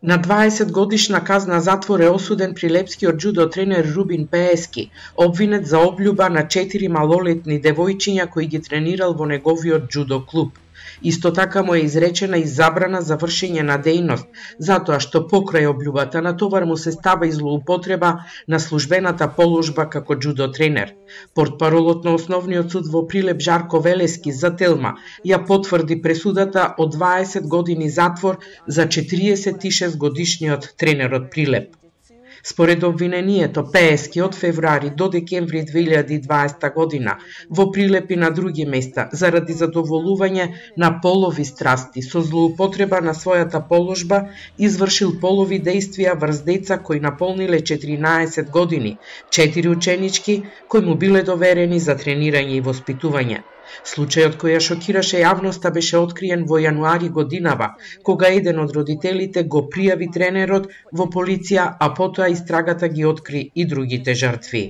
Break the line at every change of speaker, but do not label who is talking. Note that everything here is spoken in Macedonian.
На 20 годишна казна затвор е осуден прилепскиот џудо тренер Рубин Пеески, обвинет за облјуба на 4 малолетни девојчиња кои ги тренирал во неговиот џудо клуб. Исто така му е изречена и забрана за вршење на дејност, затоа што покрај облјубата на товар му се става и злоупотреба на службената положба како џудо тренер. Портпаролот на Основниот суд во Прилеп Жарко Велески за Телма ја потврди пресудата од 20 години затвор за 46 годишниот тренер од Прилеп. Според обвинението, Пеески од февруари до декември 2020 година во Прилеп и на други места заради задоволување на полови страсти со злоупотреба на својата положба извршил полови дејствија врз деца кои наполниле 14 години, 4 ученички кои му биле доверени за тренирање и воспитување. Случајот кој ја шокираше јавноста беше откриен во јануари годинава, кога еден од родителите го пријави тренерот во полиција, а потоа истрагата ги откри и другите жртви.